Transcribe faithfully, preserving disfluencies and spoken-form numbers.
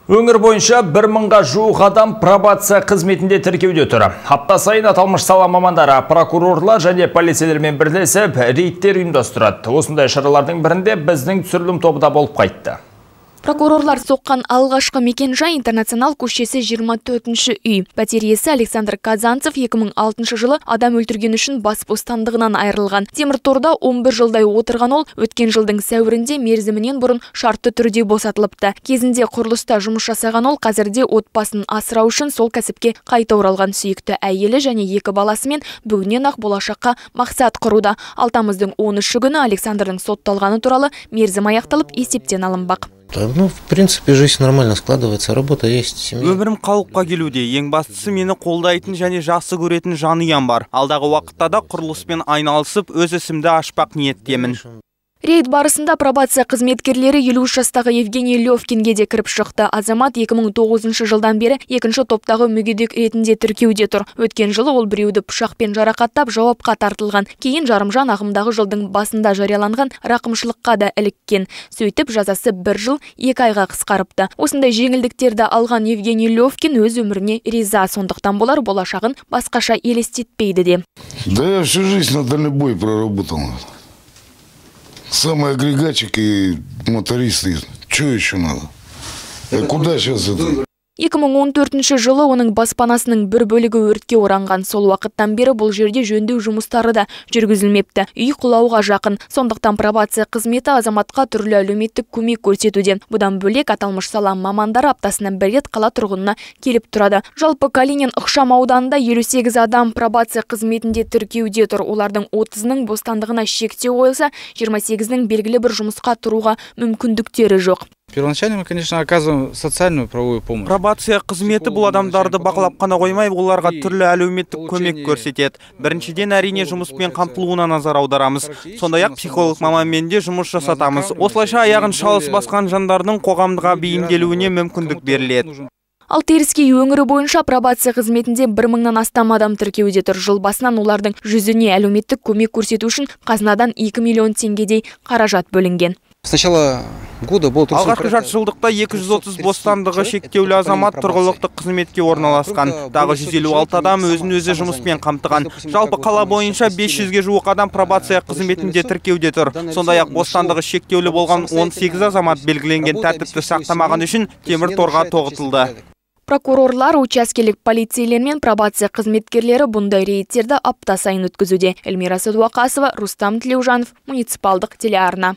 Өңір бойынша бір мыңға жуық адам пробация қызметінде тіркеуде тұр. Апта сайын аталмыш сала мамандары, прокурорлар және полицейлермен бірлесіп рейдтер ұйымдастырады. Осындай шаралардың бірінде біздің түсірілім тобы да болып қайтты. Прокурорлар соққан алғашқы мекен-жай Интернационал көшесі жиырма төртінші үй. Пәтер иесі Александр Казанцев екі мың алтыншы жылы адам өлтірген үшін бас бостандығынан айырылған. Темірторда он бір жылдай отырған ол, өткен жылдың сәуірінде мерзімінен бұрын шартты түрде босатылыпты. Кезінде құрылыста жұмыс жасаған ол қазірде отбасын асырау үшін сол кәсіпке қайта оралған. Сүйікті әйелі және екі баласымен бүгіннен ақ болашаққа мақсат құруда. Ал тамыздың он үші күні Александрдың сотталғаны туралы мерзім аяқталып есептен алынбақ. Ну, в принципе, жизнь нормально складывается, работа есть, семья. Өмірім қалыпқа келуде. Ең бастысы мені қолдайтын және жақсы көретін жанұям бар. Алдағы уақытта да құрылыспен айналысып, өз ісімді ашпақ ниеттемін. Рейд барысында пробация қызметкерлері елу үш жастағы Евгений Левкинге де кіріп шықты. Азамат екі мың тоғызыншы жылдан бері екінші топтағы мүгедек ретінде тіркеуде тұр. Өткен жылы ол біреуді пышақпен жарақаттап жауапқа тартылған. Кейін жарымжан ағымдағы жылдың басында жарияланған рақымшылыққа да іліккен. Сөйтіп жазасы бір жыл екі айға қысқарыпты. Осындай жеңілдіктерді алған Евгений Левкин өз өміріне риза, сондықтан болар болашағын басқаша елестетпейді де. Да я всю жизнь на дальнобой проработал. Самый агрегатчик и мотористы. Что еще надо? А куда сейчас это? екі мың он төртінші жылы оның баспанасының бір бөлігі өртке оранған. Сол уақыттан бері бұл жерде жөндеу жұмыстары да жүргізілмепті. Үй құлауға жақын. Сондықтан пробация қызметі азаматқа түрлі әлеуметтік көмек көрсетуде. Бұдан бөлек аталмыш сала мамандары аптасына бір рет қала тұрғынына келіп тұрады. Жалпы Калинин ықшам ауданында елу сегіз адам пробация қызметінде тіркеуде тұр. Олардың отызының бостандығына шектеу қойылса, жиырма сегізінің белгілі бір жұмысқа тұруға мүмкіндіктері жоқ. Первоначально мы, конечно, оказываем социальную правовую помощь. Пробация қызметі бұл адамдарды бақылап қана қоймай, оларға түрлі әлеуметтік көмек көрсетеді. Біріншіден әрине жұмыспен қамтылуына назар аударамыз. Сондай-ақ психолог маманмен де жұмыс жасатамыз. Осылайша аяғын шалыс басқан жандардың қоғамға бейімделуіне мүмкіндік беріледі. Ал Теріскей өңірі бойынша пробация қызметінде бір мыңнан астам адам тіркеуде тұр. Жыл басынан олардың жүзіне әлеуметтік көмек көрсету үшін қазынадан екі миллион теңгедей қаражат бөлінген. Сначала года был алғашқы жарты жылдықта екі жүз отыз бостандығы шектеулі азамат тұрғылықты қызметке орналасқан. Тағы жүз елу алты адам өзін-өзі жұмыспен қамтыған. Жалпы қала бойынша бес жүзге жуық адам пробация қызметінде тіркеуде тұр. Сондай-ақ бостандығы шектеулі болған он сегіз азамат белгіленген тәртіпті сақтамаған үшін темір торға тоғытылды. Прокурорлар, учаскелік полицейлер мен пробация қызметкерлері бұндай рейдтерді апта сайын өткізуде. Эльмира Садуақасова, Рустам Тлеужанов, муниципалдық телеарна.